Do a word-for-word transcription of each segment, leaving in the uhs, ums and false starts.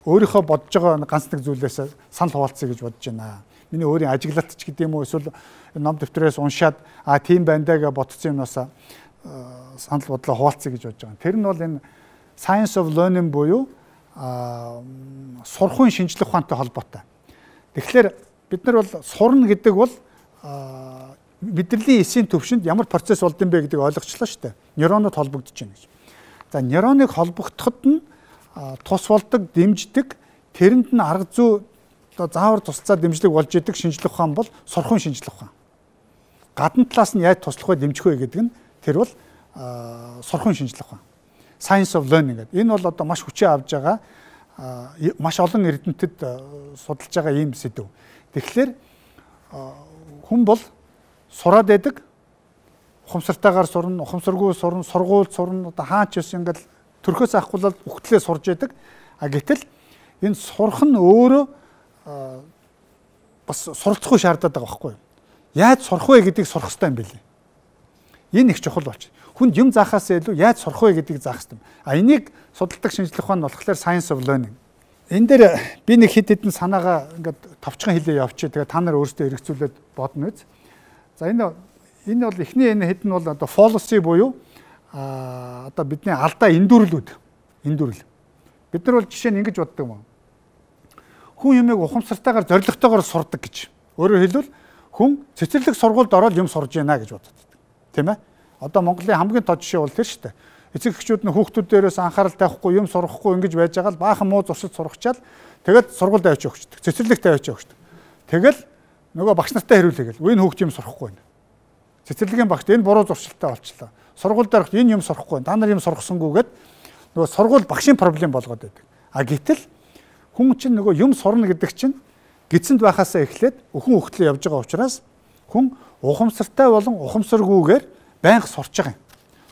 өөрийнхөө бодож байгаа ганц нэг зүйлээс санал хуваалцъя гэж бодож байна. Миний өөрийн ажиглалт ч гэдэг юм уу эсвэл ном дэвтрээс уншаад а тийм байна даа гэж бодсон юмнаас санал бодлоо хуваалцъя гэж бодож байгаа. Тэр нь бол энэ science of learning буюу сурахын шинжлэх ухаантай холбоотой. Тэгэхээр бид нар бол сурна гэдэг бол мэдрэлийн эсийн төвшөнд ямар процесс болд юм бэ гэдгийг ойлгочлаа шүү дээ. Нейронууд холбогдож байна гэж. За нейроныг холбогдоход нь тус болдог, дэмждэг, тэрэнд нь арга зүй одоо заавар тусцаа дэмжлэг болж идэг шинжлэх ухаан бол сурахын шинжлэх ухаан. Гадна талаас нь яаж туслах вэ, дэмжих вэ гэдэг нь тэр бол сурахын шинжлэх ухаан. Science of learning гэдэг. Энэ бол одоо маш хүчээ авж байгаа маш олон эрдэмтэд судалж байгаа ийм сэдв. Тэгэхээр хүн бол сураад байдаг, ухамсартайгаар сурна, ухамсаргүй сурна, сургууль сурна, одоо хаач ус ингээл төрхөөс авахгүй бол үхтлээ сурж байдаг. А гэтэл энэ сурах нь өөрөө бас суралцахгүй шаардаад байгаа байхгүй юу? Яаж сурах вэ гэдгийг сурах хэрэгтэй юм билээ. Энэ их чухал болж. Хүнд юм заахаас илүү яаж сурах вэ гэдгийг заах хэрэгтэй. А энийг судалдаг шинжлэх ухаан нь болохоор science of learning. Энэ дээр би нэг хэд хэдэн санаагаа ингээд товчхон хэлээ явчих. Тэгээ та нар өөрсдөө эргэцүүлээд бодно үз. За энэ энэ бол эхний энэ хэд нь бол одоо fallacy буюу а одоо бидний алдаа эндүрлүүд. Эндүрл. Бид нар бол жишээ нь ингэж боддог юм. Хүн юмыг ухамсартайгаар зоригтойгоор сурдаг гэж. Өөрөөр хэлбэл хүн цэцэрлэг сургуульд ороод юм сурж байна гэж боддог. Тийм ээ? Одоо Монголын хамгийн тод жишээ бол тэр шүү дээ. Эцэг эхчүүд нь хүүхдүүд дээрээс анхаарал тавихгүй, юм сурахгүй ингэж байж байгаа л баахан муу зуршид сурахчаал тэгээд сургуульд авчиж өгчдөг. Цэцэрлэгт авчиж өгчдөг. Тэгэл нөгөө багш нартай хариулъя гэл. Энэ хүүхд юм сурахгүй байна. Цэцэрлэгийн багш энэ буруу зуршилтай болчлоо. Сургуульд ороход энэ юм сурахгүй байна. Та нар юм сургасангүйгээд нөгөө сургууль багшийн проблем болгоод байдаг. А гэтэл хүн чинь нөгөө юм сурна гэдэг чинь гидсэнд байхаасаа эхлээд өхөн хөхтлөө явж байгаа учраас хүн ухамсартай болон ухамсаргүйгээр байнга сурч байгаа юм.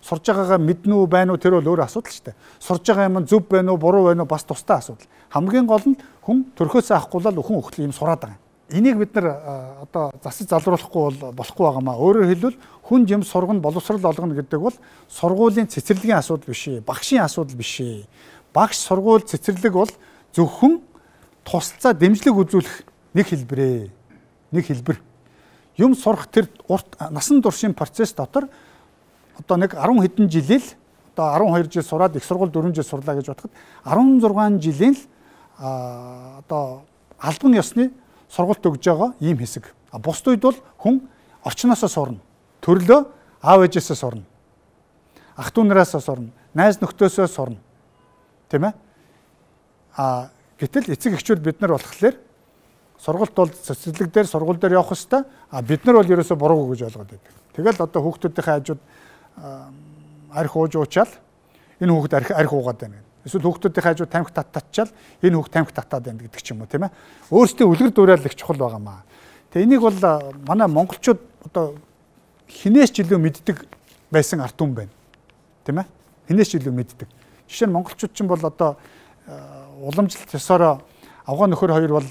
Сурж байгаагаа мэднэ үү байна уу тэр бол өөр асуудал шүү дээ. Сурж байгаа юм зөв байна уу буруу байна уу бас тустай асуудал. Хамгийн гол нь хүн төрхөөсөө авахгүй л өхөн хөхтлөө юм сураад байгаа юм. Энийг бид нар одоо засаж залруулахгүй бол болохгүй байгаамаа. Өөрөөр хэлбэл хүнд юм сургана, боловсрал олгоно гэдэг бол сургуулийн цэцэрлэгийн асуудал биш ээ, багшийн асуудал биш ээ. Багш, сургууль, цэцэрлэг бол зөвхөн тусалцаа дэмжлэг үзүүлэх нэг хэлбэрээ. Нэг хэлбэр. Юм сурах тэр урт насан туршийн процесс дотор одоо нэг арван хэдэн жилийн л одоо арван хоёр жил сураад их сургууль дөрвөн жил сурлаа гэж бодоход арван зургаан жилийн л одоо албан ёсны сургалт өгж байгаа ийм хэсэг. А бусд үед бол хүн орчноосоо сурна. Төрлөө аав ээжээсээ сурна. Ах дүү нараасаа сурна. Найз нөхдөсөө сурна. Тийм ээ? А гэтэл эцэг эхчүүд бид нар болохоор сургалт бол цэцэрлэг дээр сургууль дээр явах хэвээр а бид нар бол ерөөсөө буруугүй гэж ойлгоод байдаг. Тэгэл одоо хүүхдүүдийн хажууд арх ууж уучаал энэ хүүхд арх арх уугаад байна. Эсвэл хүүхдүүдийн хажууд тамхи татчихал энэ хүүхд тамхи татаад байна гэдэг ч юм уу тийм ээ. Өөрсдөө үлгэр дуурайл их чухал байгаамаа. Тэгээ энийг бол манай монголчууд одоо хинээс ч илүү мэддэг байсан ард түмэн байна. Тийм ээ. Хинээс ч илүү мэддэг. Жишээ нь монголчууд ч бол одоо уламжлалт ёсороо авгаа нөхөр хоёр бол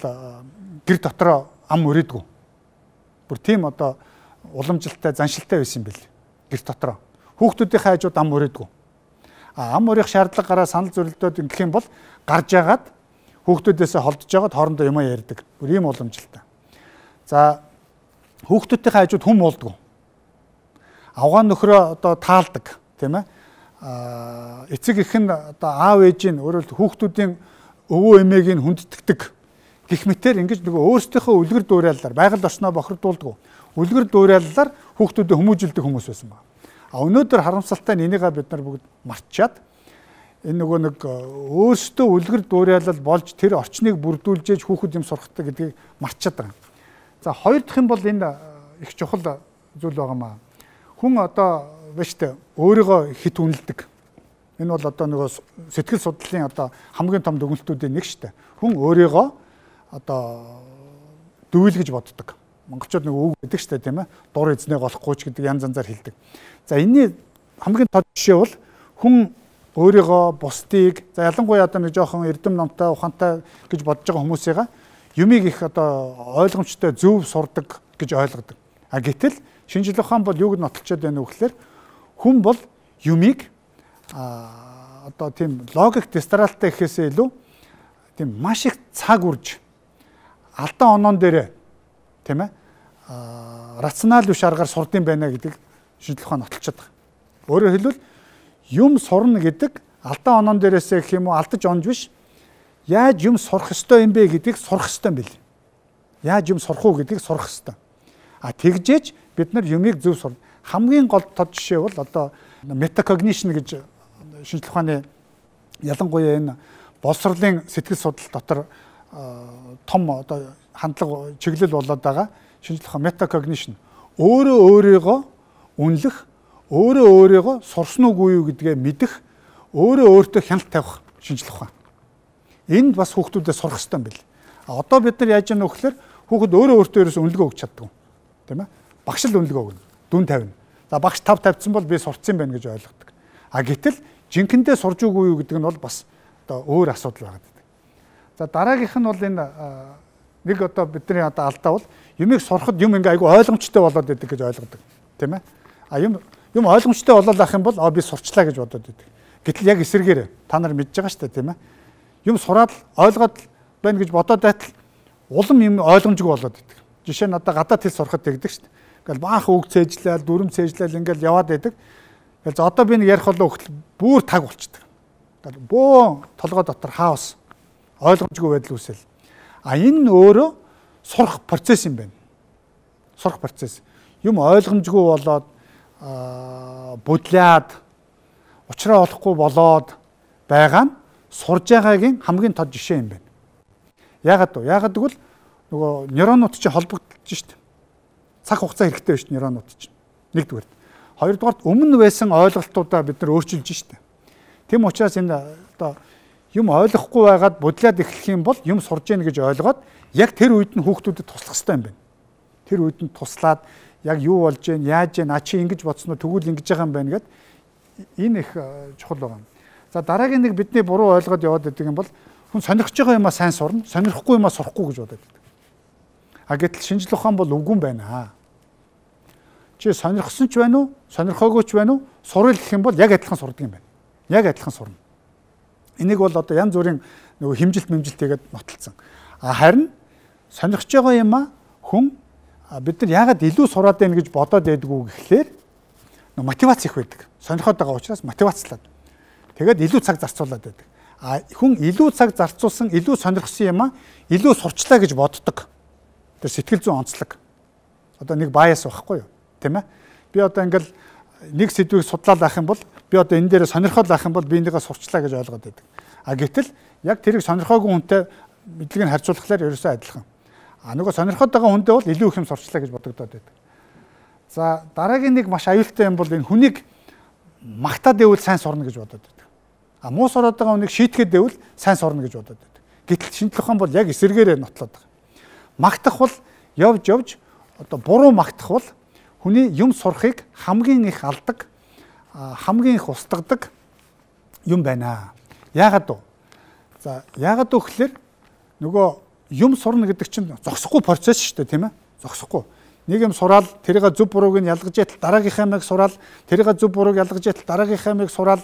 гэр дотроо ам өрөөдгөө. Бүр тийм одоо уламжлалтай заншилтай байсан юм бэл. Гэр дотроо. Хүүхдүүдийн хажууд ам өрөөдгөө. А ам өрөх шаардлага гараа санал зөвлөлтөд ингэх юм бол гарж яагаад хүүхдүүдээсээ холдож яагаад хоорондоо юм ярьдаг. Бүр ийм уламжлалтай. За хүүхдүүдийн хажууд хүм уулдгөө. Авгаа нөхрөө одоо таалдаг, тийм ээ. А эцэг эх нь одоо аав ээжийн өөрөлд хүүхдүүдийн өвөө эмээг нь хүндэтгдэг гэх мэтэр ингэж нөгөө өөрсдийнхөө үлгэр дуурайлалаар байгаль орчноо бохирдуулдаг. Үлгэр дуурайлалаар хүүхдүүдэд хүмүүжилдэг хүмүүс байсан байна. А өнөөдөр харамсалтай нь энийгээ бид нар бүгд мартчихад энэ нөгөө нэг өөрсдөө үлгэр дуурайлал болж тэр орчныг бүрдүүлж хүүхэд юм сурахдаг гэдгийг мартчихад байгаа. За хоёр дахь юм бол энэ их чухал зүйл байгаамаа. Хүн одоо биштэй өөрийгөө хит үнэлдэг. Энэ бол одоо нөгөө сэтгэл судлалын одоо хамгийн том дүгнэлтүүдийн нэг шүү дээ. Хүн өөрийгөө одоо дүүл гэж боддог. Монголчууд нэг үг гэдэг шүү дээ тийм ээ. Дур эзнээ голохгүй ч гэдэг янз янзаар хэлдэг. За энэний хамгийн тод жишээ бол хүн өөрийгөө бусдыг за ялангуяа одоо нэг жоохон эрдэм номтой ухаантай гэж бодож байгаа хүмүүсийга юмыг их одоо ойлгомжтой зөв сурдаг гэж ойлгодог. А гэтэл шинжлэх ухаан бол юуг нотолчод байна вэ гэхээр хүн бол юмыг а одоо тийм логик дистралтай гэхээсээ илүү тийм маш их цаг үрж алдаа оноон дээрээ тийм ээ рационал биш аргаар сурдсан байна гэдэг шинжлэх ухаан нотолчиход байгаа. Өөрөөр хэлбэл юм сурна гэдэг алдаа оноон дээрээсээ гэх юм уу алдаж онж биш. Яаж юм сурах ёстой юм бэ гэдгийг сурах ёстой юм бэл. Яаж юм сурах уу гэдгийг сурах ёстой. А тэгжээж бид нар юмыг зөв сурна. Хамгийн гол тод жишээ бол одоо метакогнишн гэж шинжлэх ухааны ялангуяа энэ боловсролын сэтгэл судлал дотор том одоо хандлага чиглэл болоод байгаа шинжлэх ухаан метакогнишн өөрөө өөрийгөө үнэлэх, өөрөө өөрийгөө сурсан уугүй юу гэдгээ мэдэх, өөрөө өөртөө хяналт тавих шинжлэх ухаан. Энд бас хүүхдүүдэд сурах хэрэгтэй юм бэл. А одоо бид нар яаж яах вэ гэхээр хүүхэд өөрөө өөртөө ерөөс үнэлгээ өгч чаддаг. Тийм ээ? Багш л үнэлгээ өгнө. Дүн тавина. За багш тав тавьсан бол би сурцсан байна гэж ойлгодог. А гэтэл жинхэнэдээ сурж үгүй юу гэдэг нь бол бас одоо өөр асуудал байгаа гэдэг. За дараагийнх нь бол энэ нэг одоо бидний одоо алдаа бол юмыг сурахад юм ингээ айгу ойлгомжтой болоод байдаг гэж ойлгодог. Тийм ээ? А юм юм ойлгомжтой болоод ах юм бол аа би сурчлаа гэж бодоод байдаг. Гэтэл яг эсэргээр та нар мэдж байгаа шүү дээ, тийм ээ? Юм сураад ойлгоод байна гэж бодоод байтал улам юм ойлгомжгүй болоод байдаг. Жишээ нь одоо гадаад хэл сурахад тэгдэг шүү дээ. Ингээл баах үг цээжлээл, дүрм цээжлээл ингээл яваад байдаг. Тэгэл за одоо би нэг ярих болоо хөлт бүр таг болчдөг. Тэгэл бөө толгой дотор хаос ойлгомжгүй байдал үүсэл. А энэ өөрөө сурах процесс юм байна. Сурах процесс. Юм ойлгомжгүй болоод будлаад учраа олохгүй болоод байгаа нь сурж байгаагийн хамгийн тод жишээ юм байна. Яагаад вэ? Яагаад гэвэл нөгөө нейронууд чинь холбогдож штт. Цаг хугацаа хэрэгтэй байна шүү нейронууд чинь. Нэгдүгээр. Хоёрдугаар өмнө байсан ойлголтуудаа бид нар өөрчилж штт. Тэм учраас энэ одоо юм ойлгохгүй байгаад будлаад эхлэх юм бол юм сурж яах гэж ойлгоод яг тэр үед нь хүүхдүүдэд туслах хэрэгтэй юм байна. Тэр үед нь туслаад яг юу болж гэн, яаж гэн, а чи ингэж бодсноо тэгвэл ингэж байгаа юм байна гэд энэ их чухал байгаа. За дараагийн нэг бидний буруу ойлгоод яваад байдаг юм бол хүн сонирхож байгаа юмаа сайн сурна, сонирхгүй юмаа сурахгүй гэж бодоод байдаг. А гэтэл шинжлэх ухаан бол үгүй юм байна. Чи сонирхсон ч байна уу, сонирхоогүй ч байна уу, сурал гэх юм бол яг адилхан сурдаг юм байна. Яг адилхан сурна. Энийг бол одоо янз бүрийн нөгөө хэмжилт мэмжилт хийгээд нотолцсон. А харин сонирхож байгаа юмаа хүн бид нар яагаад илүү сураад байна гэж бодоод байдгүй гэхлээр мотивац их байдаг. Сонирхоод байгаа учраас мотивацлаад. Тэгээд илүү цаг зарцуулаад байдаг. А хүн илүү цаг зарцуулсан, илүү сонирхсан юмаа илүү сурчлаа гэж боддог. Тэр сэтгэл зүйн онцлог. Одоо нэг баяс байхгүй юу? Тийм ээ? Би одоо ингээл нэг сэдвийг судлаад авах юм бол би одоо энэ дээр сонирхоод авах юм бол би энийгээ сурчлаа гэж ойлгоод байдаг. А гэтэл яг тэрийг сонирхоогүй хүнтэй мэдлэгийг харьцуулахлаар ерөөсөө адилхан. А нөгөө сонирхоод байгаа хүндээ бол илүү их юм сурчлаа гэж бодогдоод байдаг. За дараагийн нэг маш аюултай юм бол энэ хүнийг магтаад байвал сайн сурна гэж бодоод байдаг. А муу сураад байгаа хүнийг шийтгээд байвал сайн сурна гэж бодоод байдаг. Гэтэл шинжлэх ухаан бол яг эсэргээрээ нотлоод байгаа. Магтах бол явж явж одоо буруу магтах бол хүний юм сурахыг хамгийн их алдаг, хамгийн их устгадаг юм байна. Яагаад вэ? За яагаад вэ гэхээр нөгөө юм сурна гэдэг чинь зогсохгүй процесс шүү дээ, тийм ээ? Зогсохгүй. Нэг юм сураал тэрийг зөв бурууг нь ялгаж яатал дараагийнхаа мэг сураал тэрийг зөв бурууг ялгаж яатал дараагийнхаа мэг сураал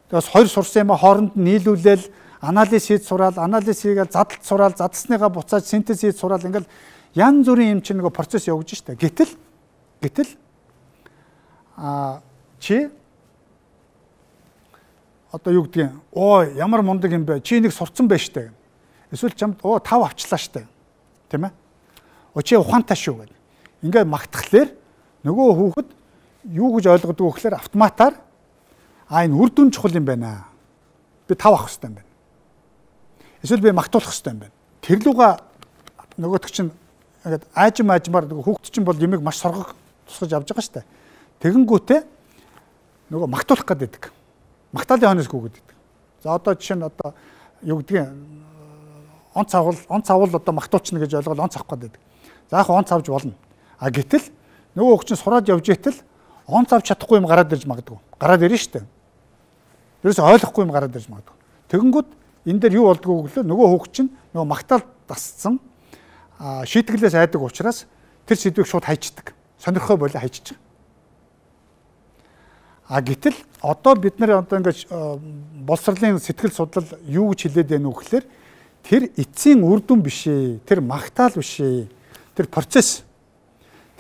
тэгээс хоёр сурсан юм хооронд нь нийлүүлээл анализ хийж сураал анализ хийгээл задлт сураал задлсныгаа буцааж синтез хийж сураал ингээл янз бүрийн юм чинь нөгөө процесс явж штэ. Гэтэл гэтэл а чи одоо юу гэдгийг оо ямар мундаг юм бэ? Чи нэг сурцсан байж штэ. Эсвэл чамд оо тав авчлаа штэ. Тийм ээ? Оо чи ухаантай шүү гэдэг. Ингээд магтахлаар нөгөө хүүхэд юу гэж ойлгодог вэ гэхээр автоматар а энэ үр дүн чухал юм байна. Би тав авах хэрэгтэй юм байна. Эсвэл би магтуулах хэрэгтэй юм байна. Тэр луга нөгөөтг чинь ингээд аажим аажмаар хүүхэд чинь бол юмыг маш соргог тусгаж авч байгаа шүү дээ. Тэгэнгүүтээ нөгөө магтуулах гэдэг. Магтаалын хонос гүгээд гэдэг. За одоо жишээ нь одоо юу гэдгийг онц авал онц авал одоо магтуучна гэж ойлгоод онц авах гэдэг. За яг онц авч болно. А гэтэл нөгөө хүүхд чинь сураад явж итэл онц авч чадахгүй юм гараад ирж магадгүй. Гараад ирнэ шүү дээ. Ерөөсөй ойлгохгүй юм гараад ирж магадгүй. Тэгэнгүүт энэ дээр юу болдгоо гэвэл нөгөө хүүхд чинь нөгөө магтаал дасцсан шийтгэлээс айдаг учраас тэр сэдвийг шууд хайчдаг. Сонирхоо болоо хайчиж байгаа. А гэтэл одоо бид нар одоо ингэж боловсролын сэтгэл судлал юу гэж хэлээд байна вэ гэхээр тэр эцсийн үр дүн биш ээ. Тэр магтаал биш ээ. Тэр процесс.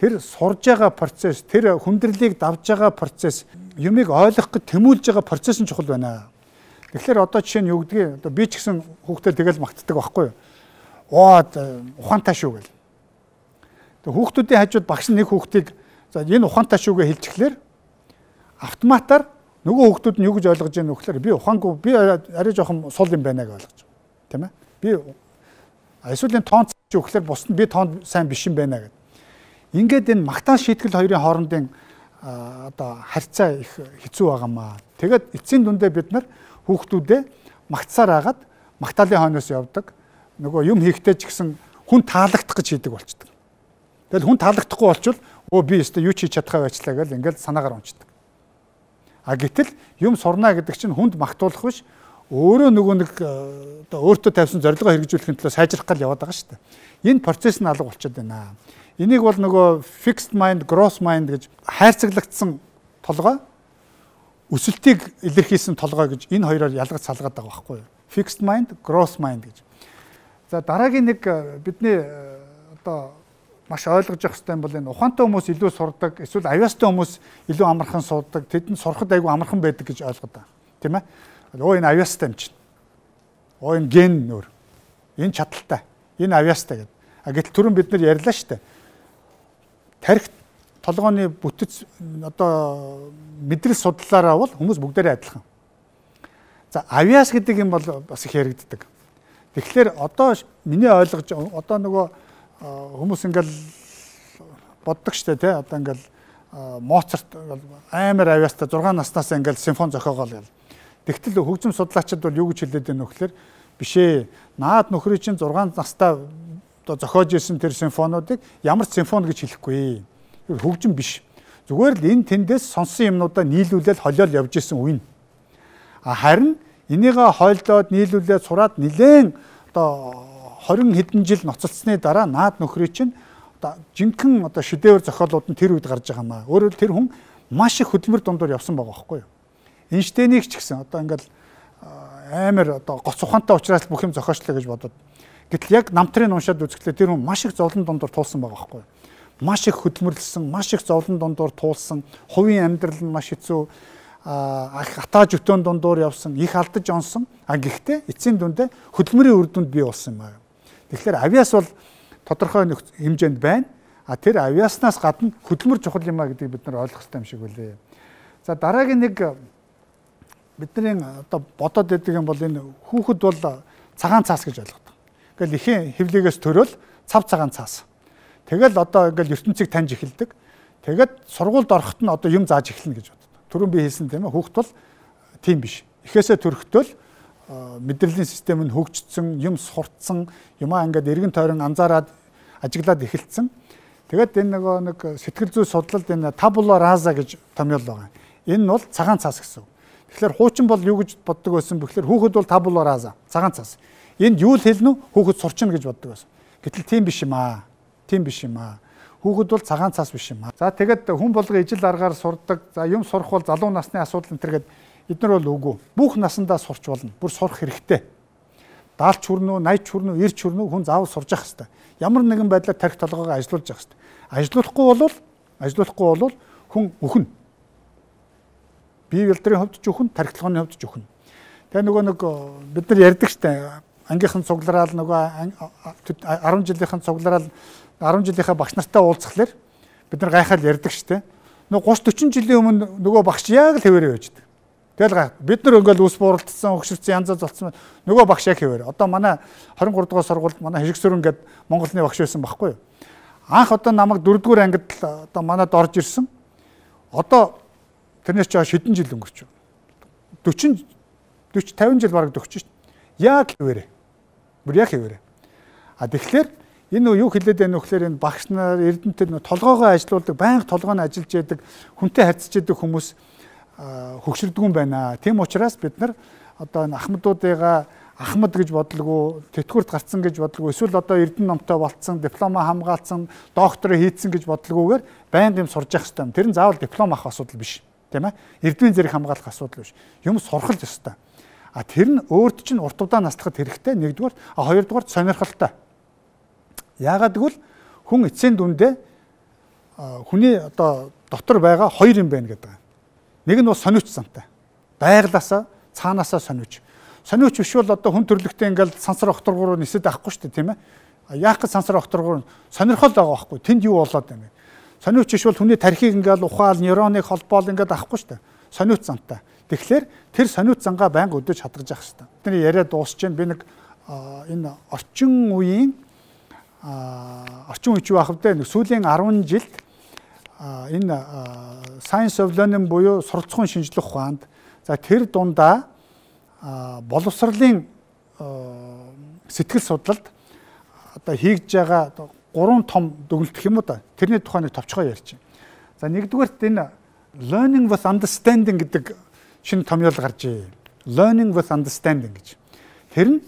Тэр сурж байгаа процесс, тэр хүндрэлийг давж байгаа процесс, юмыг ойлгох гэж тэмүүлж байгаа процесс нь чухал байна. Тэгэхээр одоо жишээ нь юу гэдгийг одоо би ч гэсэн хүүхдэд тэгэл магтдаг байхгүй юу? Оо ухаантай шүү гэл. Тэг хүүхдүүдийн хажууд багш нэг хүүхдийг за энэ ухаантай шүүгээ хэлчихлээр автоматар нөгөө хүүхдүүд нь юу гэж ойлгож байгаа нөхлөөр би ухаангүй би арай жоохон сул юм байна гэж ойлгож байгаа. Тийм ээ? Би эсвэл энэ тоон ч өгөхлээр бусд нь би тоон сайн биш юм байна гэдэг. Ингээд энэ магтаал шийтгэл хоёрын хоорондын одоо харьцаа их хэцүү байгаамаа. Тэгээд эцсийн дүндээ бид нар хүүхдүүдээ магтсаар агаад магтаалын хойноос явдаг. Нөгөө юм хийхдээ ч гэсэн хүн таалагдах гэж хийдэг болчдөг. Тэгэл хүн таалагдахгүй болчвол өө би өстө юу ч хийж чадхаа байчлаа гэж ингээд санаагаар унцдаг. А гэтэл юм сурна гэдэг чинь хүнд магтуулах биш өөрөө нөгөө нэг одоо өөртөө тавьсан зорилгоо хэрэгжүүлэхин төлөө сайжрах гал яваад байгаа шүү дээ. Энэ процесс нь алга болчиход байна. Энийг бол нөгөө fixed mind, gross mind гэж хайрцаглагдсан толгой, өсөлтийг илэрхийлсэн толгой гэж энэ хоёроор ялгаж салгаад байгаа байхгүй юу? Fixed mind, gross mind гэж. За дараагийн нэг бидний одоо маш ойлгож явах хэрэгтэй юм бол энэ ухаантай хүмүүс илүү сурдаг, эсвэл авьяастай хүмүүс илүү амархан суудаг, тэдэнд сурахад айгүй амархан байдаг гэж ойлгоод байгаа. Тийм ээ? Оо энэ авьяастай юм чинь. Оо энэ ген нөр. Энэ чадaltaй. Энэ авьяастай гэдэг. А гэтэл түрүүн бид нар ярьлаа шүү дээ. Тарих толгойн бүтэц одоо мэдрэл судлаараа бол хүмүүс бүгдээрээ адилхан. За авьяас гэдэг юм бол бас их яригддаг. Тэгэхээр одоо миний ойлгож одоо нөгөө хүмүүс ингээл боддог штэ тий одоо ингээл Моцарт амар авьяастай зургаан наснаас ингээл симфон зохиогоол. Тэгтэл хөгжим судлаачид бол юу гэж хэлээд байна вэ гэхээр биш ээ. Наад нөхрийн чинь зургаан настай одоо зохиож ирсэн тэр симфонуудыг ямар ч симфон гэж хэлэхгүй. Хөгжим биш. Зүгээр л энэ тэндээс сонссон юмнуудаа нийлүүлээд холиол явж исэн үе. А харин энийгээ хойлдоод нийлүүлээд сураад нилээн одоо хорин хэдэн жил ноцолцсны дараа наад нөхрийн чинь одоо жинхэнэ одоо шедевр зохиолууд нь тэр үед гарч байгаа маа. Өөрөөр тэр хүн маш их хөдөлмөр дундуур явсан байгаа байхгүй юу? Эйнштейнийг ч гэсэн одоо ингээл амар одоо гоц ухаантай учраас бүх юм зохиочлоо гэж бодоод. Гэтэл яг намтрын уншаад үзэхлээр тэр хүн маш их зовлон дундуур туулсан байгаа байхгүй юу? Маш их хөдөлмөрлсөн, маш их зовлон дундуур туулсан, хувийн амьдрал нь маш хэцүү, атаа жүтөн дундуур явсан, их алдаж онсон. А гэхдээ эцсийн дүндээ хөдөлмөрийн үр дүнд бий болсон юм аа. Тэгэхээр авьяас бол тодорхой хэмжээнд байна. А тэр авьяаснаас гадна хөдөлмөр чухал юм а гэдгийг бид нар ойлгох хэрэгтэй юм шиг үлээ. За дараагийн нэг бидний одоо бодоод байдаг юм бол энэ хүүхэд бол цагаан цаас гэж ойлгодог. Ингээл ихэн хөвлөгөөс төрөөл цав цагаан цаас. Тэгэл одоо ингээл ертөнцийг таньж эхэлдэг. Тэгэд сургуульд ороход нь одоо юм зааж эхэлнэ гэж боддог. Түрүүн би хэлсэн тийм ээ хүүхэд бол тийм биш. Эхээсээ төрөхдөө мэдрэлийн систем нь хөгжсөн, юм сурцсан, юмаа ингээд эргэн тойрон анзаараад ажиглаад эхэлсэн. Тэгэд энэ нөгөө нэг сэтгэл зүй судлалд энэ табула раза гэж томьёол байгаа. Энэ нь бол цагаан цаас гэсэн. Тэгэхээр хуучин бол юу гэж боддог байсан бэхлээр хүүхэд бол табула раза, цагаан цаас. Энд юу л хэлнэ үү? Хүүхэд сурчна гэж боддог байсан. Гэтэл тийм биш юм аа. Тийм биш юм аа. Хүүхэд бол цагаан цаас биш юм аа. За тэгэд хүн болгоо ижил аргаар сурдаг. За юм сурах бол залуу насны асуудал энэ төргээд эдгээр бол үгүй. Бүх насандаа сурч болно. Бүр сурах хэрэгтэй. даалч хүрнэ үү, найч хүрнэ үү, ирч хүрнэ үү хүн заавал сурж явах хэрэгтэй. Ямар нэгэн байдлаар тарих толгойгоо ажилуулж явах хэрэгтэй. Ажилуулахгүй бол ажилуулахгүй бол хүн өхнө. Бие ялдрын хувьд ч өхнө, тарих толгойн хувьд ч өхнө. Тэгээ нөгөө нэг бид нар ярьдаг штэ ангийнхан цуглараал нөгөө арван жилийнхэн цуглараал арван жилийнхаа багш нартай уулзхлаар бид нар гайхаад ярьдаг штэ. Нөгөө гуш дөрвөн жилийн өмнө нөгөө багш яг л хэвээрээ байждаг. Тэгэл гай бид нар ингээл ус бууралдсан, өгшөрцөн янз бүр золцсон. Нөгөө багш яг хэвээр. Одоо манай двадцать три дугаар сургуульд манай Хишгсүрэн гээд Монголны багш байсан байхгүй юу? Анх одоо намайг дөрөвдүгээр ангид л одоо манад орж ирсэн. Одоо тэрнээс ч шидэн жил өнгөрч байна. forty forty fifty жил бараг төгсөж шít. Яг хэвээрээ. Бүр яг хэвээрээ. А тэгэхээр энэ юу хэлээд байна вэ гэхээр энэ багш нар эрдэнэтэй толгоогоо ажилуулдаг, байнга толгойн ажиллаж яадаг, хүнтэй харьцаж яадаг хүмүүс хөгшөрдөг юм байна. Тийм учраас бид нар одоо энэ ахмадуудыгаа ахмад гэж бодлого, тэтгэврт гарцсан гэж бодлого, эсвэл одоо эрдэнэ номтой болцсон, диплома хамгаалсан, доктороо хийцэн гэж бодлогоогоор байнга юм сурж явах хэрэгтэй. Тэр нь заавал диплом авах асуудал биш, тийм ээ? Эрдмийн зэрэг хамгаалах асуудал биш. Юм сурах л ёстой. А А тэр нь өөрт чинь урт удаа наслахад хэрэгтэй нэгдүгээр, а хоёрдугаар сонирхолтой. Яагаад гэвэл хүн эцсийн дүндээ хүний одоо дотор байгаа хоёр юм байна гэдэг. Нэг нь бол сониуч зантай. Байглаасаа цаанаасаа сониуч. Сониуч биш бол одоо хүн төрлөختөө ингээл сансар окторгоор нисэд авахгүй шүү дээ, тийм ээ. Яах гэж сансар окторгоор сонирхол байгаа байхгүй. Тэнд юу болоод байна. Сониуч биш бол хүний тархийг ингээл ухаал, нейроныг холбоол ингээд авахгүй шүү дээ. Сониуч зантай. Тэгэхээр тэр сониуч зангаа байнга өдөөж хадгаж явах хэрэгтэй. Бидний яриа дуусч जैन би нэг энэ орчин үеийн орчин үеч байх вэ? Нэг сүүлийн арван жилд энэ Science of Learning буюу суралцахуйн шинжлэх ухаанд за тэр дундаа боловсролын сэтгэл судлалд одоо хийж байгаа гурван том дүгнэлт гэх юм уу та тэрний тухай нэг товчгоо ярьж байна. За нэгдүгээрт энэ learning with understanding гэдэг шинэ томьёол гарч ий. Learning with understanding гэж. Тэр нь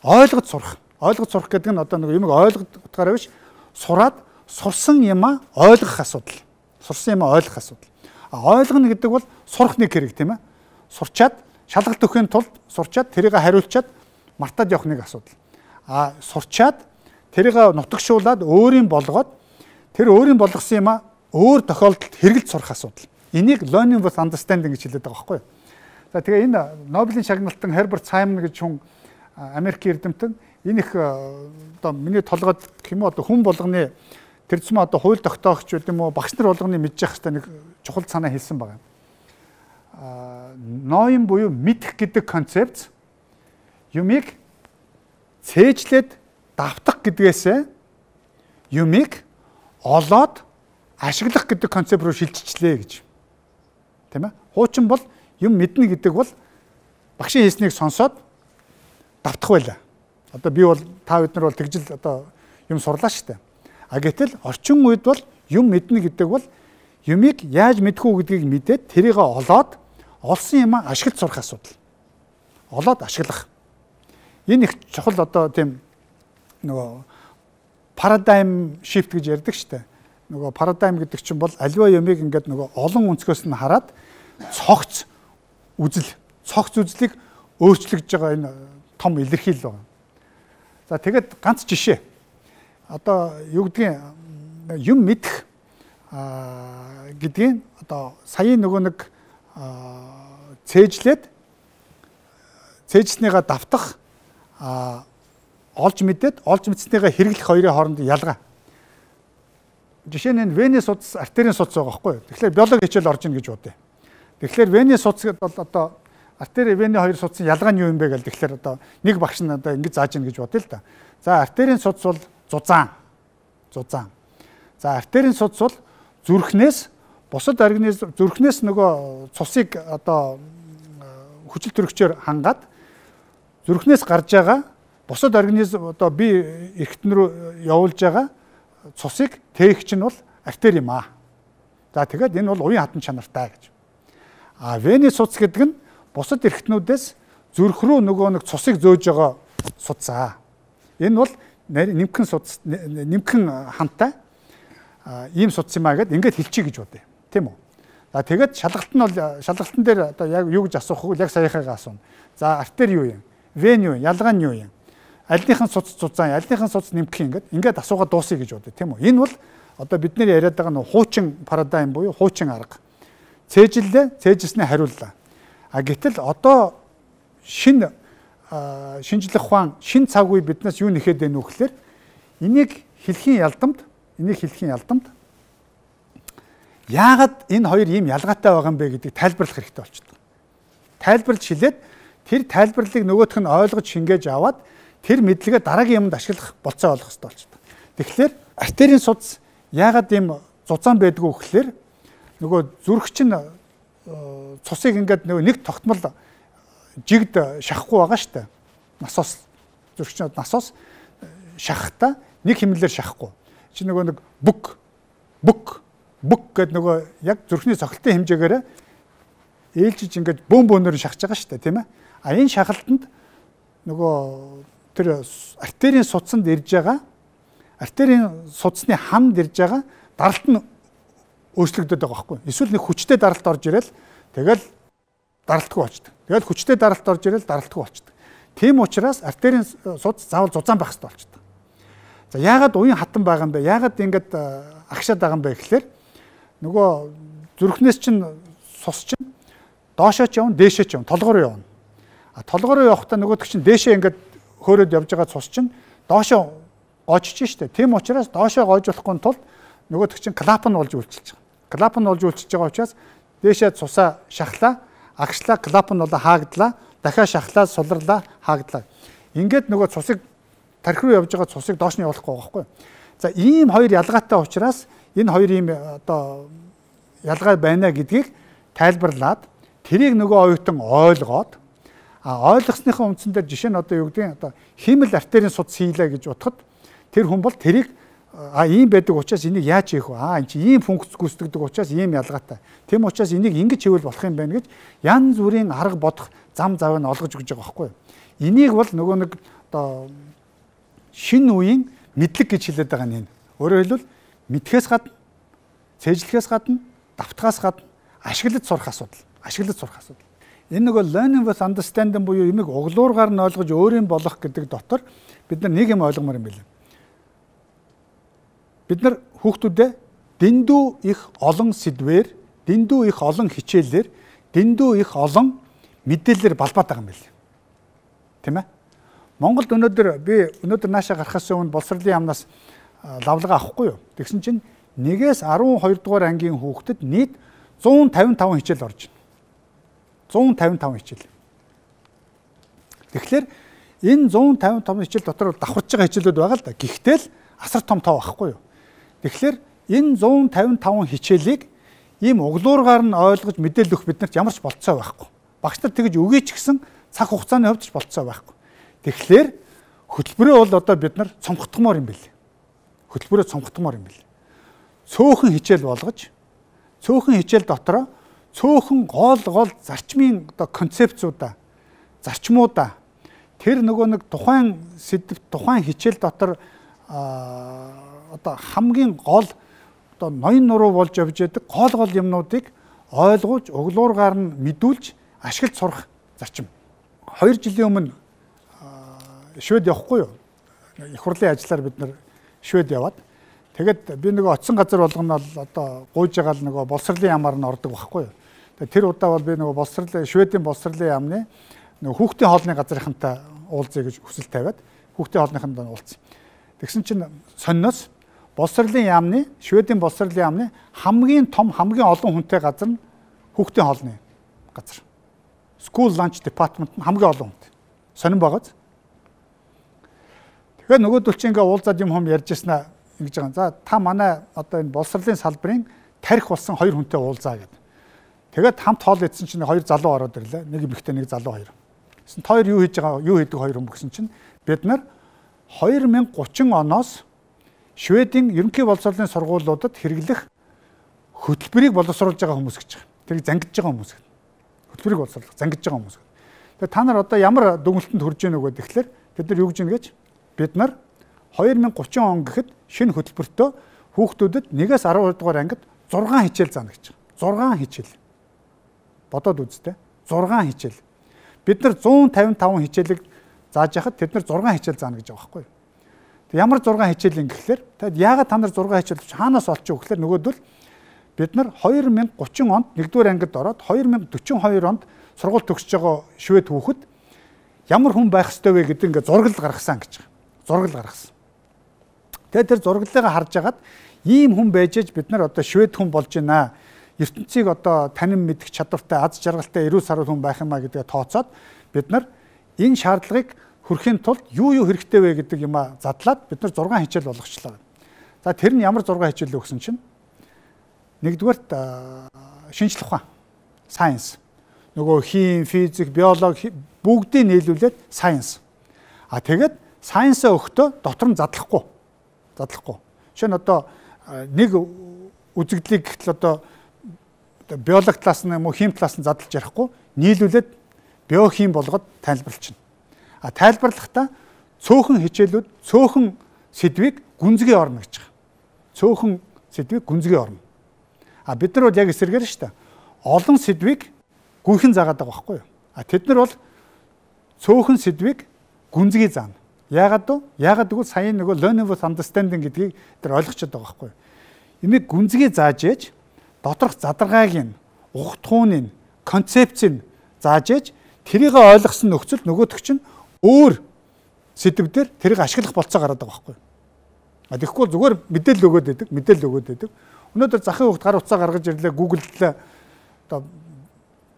ойлгож сурах. Ойлгож сурах гэдэг нь одоо нэг юмыг ойлгохгаараа биш сураад сурсан юмаа ойлгох асуудал. Сурсан юмаа ойлгох асуудал. А ойлгоно гэдэг бол сурах нэг хэрэг тийм ээ. Сурчаад шалгалт өгөхийн тулд сурчаад тэрийг хариулчаад мартаад явах нэг асуудал. А сурчаад тэрийг нутагшуулаад өөрийн болгоод тэр өөрийн болгосон юмаа өөр тохиолдолд хэрэгэлж сурах асуудал. Энийг learning with understanding гэж хэлээд байгаа байхгүй юу? За тэгээ энэ Нобелийн шагналтан Herbert Simon гэж хүн Америкийн эрдэмтэн энэ их одоо миний толгойд гэх юм уу одоо хүн болгоны тэр зам одоо хууль тогтоогч гэдэг юм уу багш нар болгоны мэдж явах хэрэгтэй нэг чухал санаа хэлсэн байгаа. Аа ноён буюу мэдэх гэдэг концепт юмыг цээжлээд давтах гэдгээсээ юмыг олоод ашиглах гэдэг концепт руу шилжчихлээ гэж. Тийм ээ? Хуучин бол юм мэднэ гэдэг бол багшийн хэлснийг сонсоод давтах байлаа. Одоо би бол та бид нар бол тэгжил одоо юм сурлаа шүү дээ. А гэтэл орчин үед бол юм мэднэ гэдэг бол юмыг яаж мэдэх үү гэдгийг мэдээд тэрийг олоод олсон юм ашиглаж сурах асуудал. Олоод ашиглах. Энэ их чухал одоо тийм нөгөө paradigm shift гэж ярьдаг шүү дээ. Нөгөө paradigm гэдэг чинь бол аливаа юмыг ингээд нөгөө олон өнцгөөс нь хараад цогц үзэл, цогц үзлийг өөрчлөгдөж байгаа энэ том илэрхийлэл байна. За тэгээд ганц жишээ. Одоо юу гэдгийг юм мэдэх гэдгийг одоо саяын нөгөө нэг цээжлээд цээжснийгаа давтах олж мэдээд олж мэдснийгаа хэрэглэх хоёрын хоорондын ялгаа. Жишээ нь Венес судас артерийн судас байгаа байхгүй юу? Тэгэхээр биологи хичээл орж ийн гэж бодъё. Тэгэхээр Венес судас бол одоо артери вены хоёр судсын ялгаа нь юу юм бэ гэл тэгэхээр одоо нэг багш нь одоо ингэж зааж ийн гэж бодъё л да. За артерийн судас бол зузаан. Зузаан. За артерийн судас бол зүрхнээс бусад организм зүрхнээс нөгөө цусыг одоо хүчил төрөгчөөр хангаад зүрхнээс гарч байгаа бусад организм одоо бие эргэтэн рүү явуулж байгаа цусыг тээгч нь бол артери юм аа. За тэгээд энэ бол уян хатан чанартай гэж. А вены судас гэдэг нь бусад эргэтнүүдээс зүрх рүү нөгөө нэг цусыг зөөж байгаа судас. Энэ бол нэмхэн судас нэмхэн хантай ийм судас юм аа гэд ингээд хэлчихье гэж бодъё. Тийм үү? За тэгээд шалгалт нь бол шалгалтын дээр одоо яг юу гэж асуух вэ? Яг саяхаагаа асууна. За артери юу юм? Вен юу юм? Ялгаа нь юу юм? Альныхын судас зузаан, альныхын судас нэмэх ингээд ингээд асуугаад дуусъя гэж бодъё. Тийм үү? Энэ бол одоо бид нэр яриад байгаа нь хуучин парадайм буюу хуучин арга. Цээжлээ, цээжснээ хариуллаа. А гэтэл одоо шинэ шинжлэх ухаан, шинэ цаг үе биднээс юу нэхэд байна вэ гэхээр энийг хэлхийн ялдамд, энийг хэлхийн ялдамд яагаад энэ хоёр ийм ялгаатай байгаа юм бэ гэдгийг тайлбарлах хэрэгтэй болчихдог. Тайлбарлаж хэлээд тэр тайлбарлалыг нөгөөх нь ойлгож шингээж аваад тэр мэдлэгээ дараагийн юмд ашиглах болцоо олох хэрэгтэй болчихдог. Тэгэхээр артерийн судас яагаад ийм зузаан байдгүй гэхээр нөгөө зүрх чинь цусыг ингээд нөгөө нэг тогтмол жигд шахахгүй байгаа шүү дээ. Насос зүрхчин насос шахахта нэг хэмнэлээр шахахгүй. Чи нөгөө нэг бүк бүк бүк гэдэг нөгөө яг зүрхний цохилтын хэмжээгээр ээлжиж ингээд бөөн бөөнөр шахаж байгаа шүү дээ, тийм ээ. А энэ шахалтанд нөгөө тэр артерийн судсанд ирж байгаа артерийн судасны хамд ирж байгаа даралт нь өөрчлөгдөд байгаа байхгүй. Эсвэл нэг хүчтэй даралт орж ирэл тэгэл даралтгүй болчдөг. Тэгээд хүчтэй даралт орж ирэл даралтгүй болчдөг. Тийм учраас артерийн судас заавал зузаан байх хэрэгтэй болчдөг. За яагаад уян хатан байгаа юм бэ? Яагаад ингэж агшаад байгаа юм бэ гэхлээр нөгөө зүрхнээс чинь цус чинь доошоо ч явна, дээшээ ч явна, толгой руу явна. А толгой руу явахдаа нөгөөдөг чинь дээшээ ингэж хөөрөөд явж байгаа цус чинь доошоо гоожиж штэ. Тийм учраас доошоо гоожуулахгүй тулд нөгөөдөг чинь клапан болж үйлчилж байгаа. Клапан болж үйлчилж байгаа учраас дээшээ цусаа шахлаа, агшлаа, клапан болоо хаагдлаа, дахиад шахлаа, сулрлаа, хаагдлаа. Ингээд нөгөө цусыг тархи руу явж байгаа цусыг доош нь явуулахгүй байгаа байхгүй. За ийм хоёр ялгаатай учраас энэ хоёр ийм одоо ялгаа байна гэдгийг тайлбарлаад тэрийг нөгөө оюутан ойлгоод а ойлгосныхаа үндсэн дээр жишээ нь одоо юу гэдэг нь одоо хиймэл артерийн судас хийлээ гэж утгад тэр хүн бол тэрийг а ийм байдаг учраас энийг яаж хийх вэ? А энэ чи ийм функц гүйцэтгэдэг учраас ийм ялгаатай. Тэм учраас энийг ингэж хийвэл болох юм байна гэж янз бүрийн арга бодох зам завыг олгож өгч байгаа байхгүй юу? Энийг бол нөгөө нэг одоо шинэ үеийн мэдлэг гэж хэлээд байгаа нь энэ. Өөрөөр хэлбэл мэдхээс гадна, цээжлэхээс гадна, давтахаас гадна ашиглаж сурах асуудал. Ашиглаж сурах асуудал. Энэ нөгөө learning with understanding буюу юмыг углуургаар нь ойлгож өөрийн болох гэдэг дотор бид нар нэг юм ойлгомоор юм байна. Бид нар хүүхдүүдэд дэндүү их олон сэдвээр, дэндүү их олон хичээлээр, дэндүү их олон мэдээлэлээр балбаад байгаа юм байна. Тийм ээ? Монголд өнөөдөр би өнөөдөр наашаа гарахаас өмнө боловсролын яамнаас лавлага авахгүй юу? Тэгсэн чинь нэгээс арван хоёр дугаар ангийн хүүхдэд нийт зуун тавин таван хичээл орж байна. зуун тавин таван хичээл. Тэгэхээр энэ зуун тавин таван хичээл дотор давхарч байгаа хичээлүүд байгаа л да. Гэхдээ л асар том тав байхгүй юу? Тэгэхээр энэ зуун тавин таван хичээлийг ийм углуургаар нь ойлгож мэдээлэл өгөх биднэрт ямар ч болцоо байхгүй. Багш нар тэгж өгье ч гэсэн цаг хугацааны хувьд ч болцоо байхгүй. Тэгэхээр хөтөлбөрөө бол одоо бид нар цомгтгомоор юм бэл. Хөтөлбөрөө цомгтгомоор юм бэл. Цөөхөн хичээл болгож, цөөхөн хичээл дотроо цөөхөн гол гол зарчмын одоо концепцуудаа, зарчмуудаа тэр нөгөө нэг тухайн сэдв, тухайн хичээл дотор одоо хамгийн гол одоо ноён нуруу болж явж байдаг гол гол юмнуудыг ойлгуулж, углуургаар нь мэдүүлж, ашиглаж сурах зарчим. Хоёр жилийн өмнө Швед явахгүй юу? Их хурлын ажиллаар бид нар Швед яваад тэгээд би нөгөө очисон газар болгоно бол одоо гуйж байгаа л нөгөө боловсролын яамаар нь ордог байхгүй юу? Тэр удаа бол би нөгөө боловсролын Шведийн боловсролын яамны нөгөө хүүхдийн хоолны газрынхантай уулзъя гэж хүсэл тавиад хүүхдийн хоолныханд уулзсан. Тэгсэн чинь сонноос боловсролын яамны Шведийн боловсролын яамны хамгийн том хамгийн олон хүнтэй газар нь хүүхдийн хоолны газар. School lunch department нь хамгийн олон хүнтэй. Сонирн байгааз. Тэгэхээр нөгөөдөл чинь ингээ уулзаад юм хом ярьж яснаа ингэж байгаа. За та манай одоо энэ боловсролын салбарын тарих болсон хоёр хүнтэй уулзаа гэдэг. Тэгээд хамт хоол идсэн чинь хоёр залуу ороод ирлээ. Нэг эмэгтэй, нэг залуу хоёр. Гэсэн хоёр юу хийж байгаа, юу хийдэг хоёр хүн гэсэн чинь бид нар две тысячи тридцать оноос Шведийн ерөнхий боловсролын сургуулиудад хэрэглэх хөтөлбөрийг боловсруулж байгаа хүмүүс гэж байгаа. Тэрийг зангидж байгаа хүмүүс. Хөтөлбөрийг боловсруулах, зангидж байгаа хүмүүс. Тэгээд та нар одоо ямар дүгнэлтэнд хүрж ийнө вэ гэхээр бид нар юу гэж ийнэ гэж бид нар две тысячи тридцать он гэхэд шинэ хөтөлбөртөө хүүхдүүдэд нэгээс арван дугаар ангид зургаан хичээл заана гэж байгаа. зургаан хичээл. Бодоод үзтээ. зургаан хичээл. Бид нар зуун тавин таван хичээлийг зааж яхад тэд нар зургаан хичээл заана гэж байгаа байхгүй юу? Тэг ямар зургаан хичээл юм гэхэлэр тэгэд яагаад та нар зургаан хичээл хаанаас олчих вэ гэхэлэр нөгөөдөл бид нар две тысячи тридцать онд нэгдүгээр ангид ороод две тысячи сорок two онд сургууль төгсөж байгаа Швед хүүхэд ямар хүн байх ёстой вэ гэдэг ингээ зургал гаргасан гэж байгаа. Зургал гаргасан. Тэгээд тэр зурглалыг харж агаад ийм хүн байж аж бид нар одоо Швед хүн болж байна. ертөнцийг одоо танин мэдэх чадвартай, аз жаргалтай, эрүүл сарвал хүн байх юмаа гэдгээ тооцоод бид нар энэ шаардлагыг хүрэхийн тулд юу юу хэрэгтэй вэ гэдэг юмаа задлаад бид нар зургаан хичээл болгочлаа. За тэр нь ямар зургаан хичээл вэ гэсэн чинь нэгдүгээрт шинжлэх ухаан, science. Нөгөө хим, физик, биологи бүгдийг нийлүүлээд science. А тэгээд science-аа өгтөө дотор нь задлахгүй. Задлахгүй. Жишээ нь одоо нэг үзэгдлийг гэтэл одоо биологи талаас нь юм уу хим талаас нь задлж ярихгүй нийлүүлээд биохим болгоод тайлбарлчихна. А тайлбарлахдаа цөөхөн хичээлүүд цөөхөн сэдвийг гүнзгий орно гэж байгаа. Цөөхөн сэдвийг гүнзгий орно. А бид нар бол яг эсэргээр шүү дээ. Олон сэдвийг гүйхэн заагаад байгаа байхгүй юу? А тэд нар бол цөөхөн сэдвийг гүнзгий заана. Яагаад вэ? Яагаад гэвэл сая нөгөө learning with understanding гэдгийг тэр ойлгочод байгаа байхгүй юу? Имийг гүнзгий зааж ээж доторх задаргааг нь, ухтхууныг, концепцийг зааж ээж тэрийг ойлгосон нөхцөл нөгөөдөг чинь өөр сэдвээр тэрийг ашиглах болцоо гараад байгаа байхгүй юу? А тэгэхгүй зүгээр мэдээлэл өгөөд байдаг, мэдээлэл өгөөд байдаг. Өнөөдөр захын хугацаанд гар утсаа гаргаж ирлээ, Google-д одоо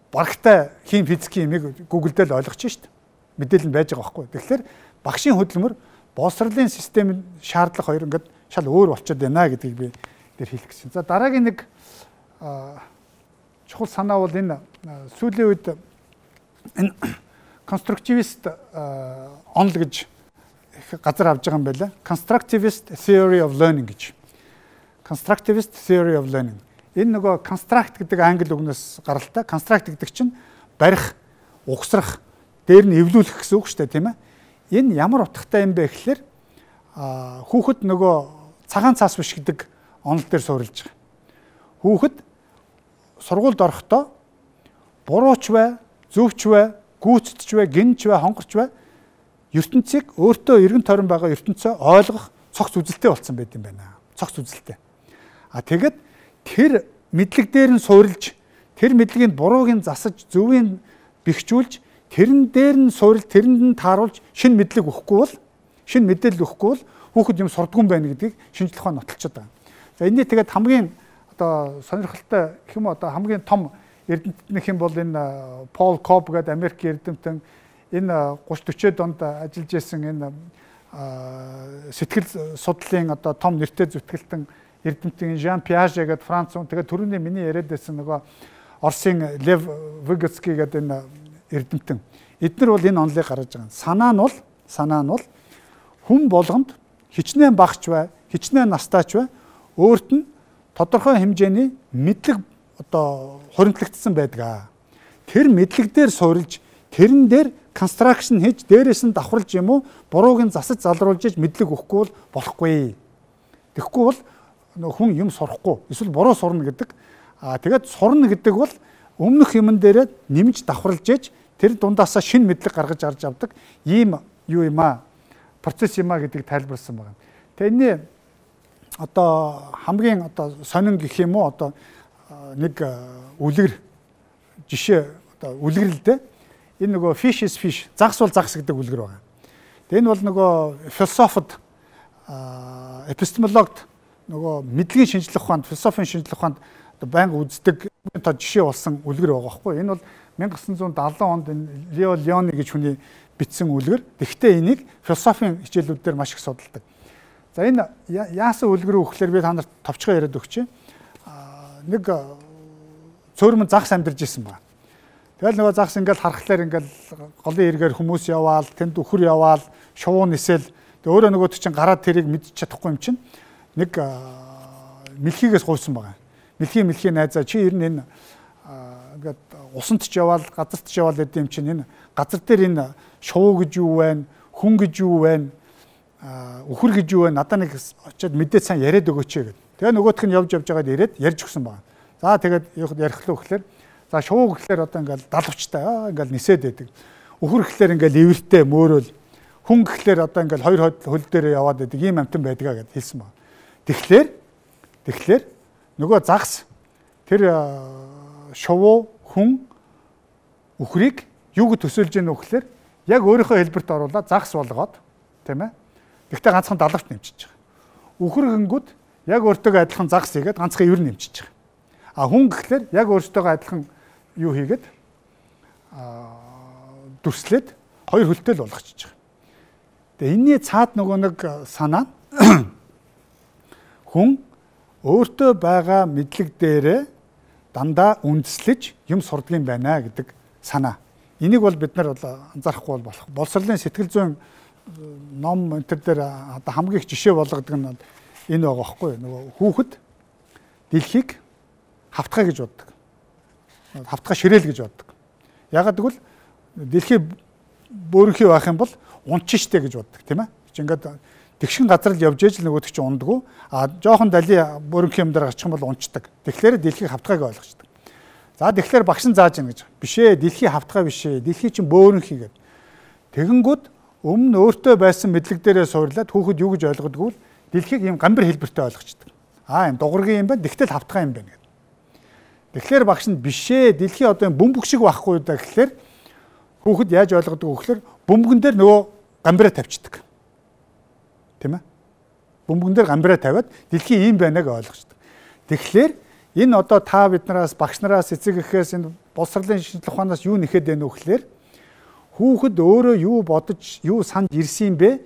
барагтай хим физикийн юмыг Google-д л ойлгочих шүү дээ. Мэдээлэл нь байж байгаа байхгүй. Тэгэхээр багшийн хөдөлмөр боловсролын системийн шаардлага хоёр ингээд шал өөр болчиход байна гэдгийг би дээр хэлэх гэсэн. За дараагийн нэг чухал санаа бол энэ сүүлийн үед энэ constructivist онол гэж газар авж байгаа юм байна. Constructivist theory of learning гэж. Constructivist theory of learning. Энэ нөгөө construct гэдэг англи үгнээс гаралтай. Construct гэдэг чинь барих, угсрах, дээр нь эвлүүлэх гэсэн үг шүү дээ, тийм ээ. Энэ ямар утгатай юм бэ гэхэлэр хүүхэд нөгөө цагаан цаас биш гэдэг онол дээр суурилж байгаа. Хүүхэд сургуульд орохдоо бурууч бай, зөвч бай, гүйцэтгэж бай, гинж бай, хонгорч бай ертөнцийг өөртөө эргэн тойрон байгаа ертөнцөө ойлгох цогц үзэлтэй болсон байт юм байна. Цогц үзэлтэй. А тэгэд тэр мэдлэг дээр нь суурилж, тэр мэдлэгийг бурууг нь засаж, зөвийг бэхжүүлж, тэрэн дээр нь суурилж, тэрэнд нь тааруулж шинэ мэдлэг өгөхгүй бол, шинэ мэдээлэл өгөхгүй бол хүүхэд юм сурдгүй юм байна гэдгийг шинжлэх ухаан нотолцоод байгаа. За энэний тэгээд хамгийн одоо сонирхолтой гэх юм уу одоо хамгийн том эрдэмтнийх юм бол энэ Пол Коб гэдэг Америк эрдэмтэн энэ гуравч дөрвөд онд ажиллаж исэн энэ сэтгэл судлалын одоо том нэртэй зүтгэлтэн эрдэмтэн Жан Пиаже гэдэг Франц хүн тэгээд түрүүний миний яриад байсан нөгөө Оросын Лев Выготский гэдэг энэ эрдэмтэн эдгээр бол энэ онолыг гаргаж байгаа. Санаа нь бол санаа нь бол хүн болгонд хичнээн багч бай, хичнээн настаач бай өөрт нь тодорхой хэмжээний мэдлэг одоо хуримтлагдсан байдаг. Тэр мэдлэг дээр суурилж тэрэн дээр construction хийж дээрээс нь давхарлаж юм уу бурууг нь засаж залруулж иж мэдлэг өгөхгүй бол болохгүй. Тэгэхгүй бол хүн юм сурахгүй эсвэл буруу сурна гэдэг. Аа тэгээд сурна гэдэг бол өмнөх юмн дээрээ нэмж давхарлаж иж тэр дундаасаа шинэ мэдлэг гаргаж арж авдаг ийм юу юм аа процесс юм аа гэдгийг тайлбарласан байна. Тэгээ энэ одоо хамгийн одоо сонин гэх юм уу одоо нэг үлгэр жишээ одоо үлгэрэлтэй энэ нөгөө fish is fish загс бол загс гэдэг үлгэр байна. Тэгээ энэ бол нөгөө философид эпистемологд нөгөө мэдлэгийн шинжлэх ухаанд философийн шинжлэх ухаанд одоо байнга үздэг тоо жишээ болсон үлгэр байгаа байхгүй. Энэ бол мянга девятьсот седьмидесятый онд энэ Лео Леони гэж хүний бичсэн үлгэр. Тэгэхдээ энийг философийн хичээлүүд дээр маш их судалдаг. За энэ яасан үлгэр үү гэхээр би та нарт товчхон яриад өгч. Нэг цөөрмөн загс амьдарч исэн байна. Тэгэл нөгөө загс ингээл харахлаар ингээл голын эргээр хүмүүс яваал, тэнд өхөр яваал, шувуу нисэл. Тэгээ өөрөө нөгөө чинь гараад тэрийг мэдчих чадахгүй юм чинь нэг мэлхийгээс гуйсан байгаа. Мэлхий мэлхий найзаа чи ер нь энэ ингээд усанд ч яваал, газарт ч яваал гэдэг юм чинь энэ газар дээр энэ шувуу гэж юу вэ? Хүн гэж юу вэ? Өхөр гэж юу вэ? Надаа нэг очиод мэдээд сайн яриад өгөөч гэдэг. Тэгээ нөгөөх нь явж явж байгаад ирээд ярьж өгсөн байна. За тэгээд ярих лөө гэхлээр за шувуу гэхлээр одоо ингээл далавчтай аа ингээл нисээд байдаг. Өхөр гэхлээр ингээл эвэртэй мөөрөөл. Хүн гэхлээр одоо ингээл хоёр хөл дээр яваад байдаг ийм амтан байдгаа гэд хэлсэн байна. Тэгэхээр тэгэхээр нөгөө загс тэр шувуу хүн өхрийг юу гэж төсөөлж яах вэ гэхлээр яг өөрийнхөө хэлбэрт оруулаад загс болгоод тийм ээ. Тэгтээ ганцхан далавч нэмчихэж байгаа. Өхөр гингүүд яг өөртөө адилхан загс хийгээд ганцхан ивэр нэмчихэж байгаа. А хүн гэхлээр яг өөртөө адилхан юу хийгээд а дүрслээд хоёр хөлтэй л болгочихж байгаа. Тэгээ энэний цаад нөгөө нэг санаа хүн өөртөө байгаа мэдлэг дээрээ дандаа үндэслэж юм сурдаг юм байна гэдэг санаа. Энийг бол бид нар анзаарахгүй бол болох. Боловсролын сэтгэл зүйн ном энэ төр дээр одоо хамгийн их жишээ болгодог нь энэ байгаа байхгүй юу? Нөгөө хүүхэд дэлхийг хавтгай гэж боддог. Хавтгай ширээл гэж боддог. Ягаад гэвэл дэлхий бөөрөнхий байх юм бол унчин штэ гэж боддог тийм ээ. Чи ингээд тэгшин газар л явж ээж л нөгөөдөг чи ундаггүй. А жоохон дали бөөрөнхий юм дээр гарчих юм бол унцдаг. Тэгэхээр дэлхийг хавтгайг ойлгочдөг. За тэгэхээр багш нь зааж ийн гэж. Биш ээ, дэлхий хавтгай биш ээ. Дэлхий чинь бөөрөн хийгээд. Тэгэнгүүт өмнө өөртөө байсан мэдлэг дээрээ суурлаад хүүхэд юу гэж ойлгодгоо дэлхийг ийм гамбар хэлбэртэй ойлгочдөг. Аа юм дугургийн юм байна, тэгтэл хавтгай юм байна гэдэг. Тэгэхээр багш нь биш ээ, дэлхий одоо юм бөмбөг шиг байхгүй даа гэхлээр хүүхэд яаж ойлгодог вэ гэхлээр бөмбөгөн дээр нөгөө гамбараа тавьчихдаг. Тийм ээ? Бөмбөгөн дээр гамбараа тавиад дэлхий ийм байна гэж ойлгочдөг. Тэгэхээр энэ одоо та биднээс багш нараас эцэг эхээс энэ боловсролын шинжилгээ ухаанаас юу нэхэд байна вэ гэхлээр хүүхэд өөрөө юу бодож, юу санд ирсэн бэ?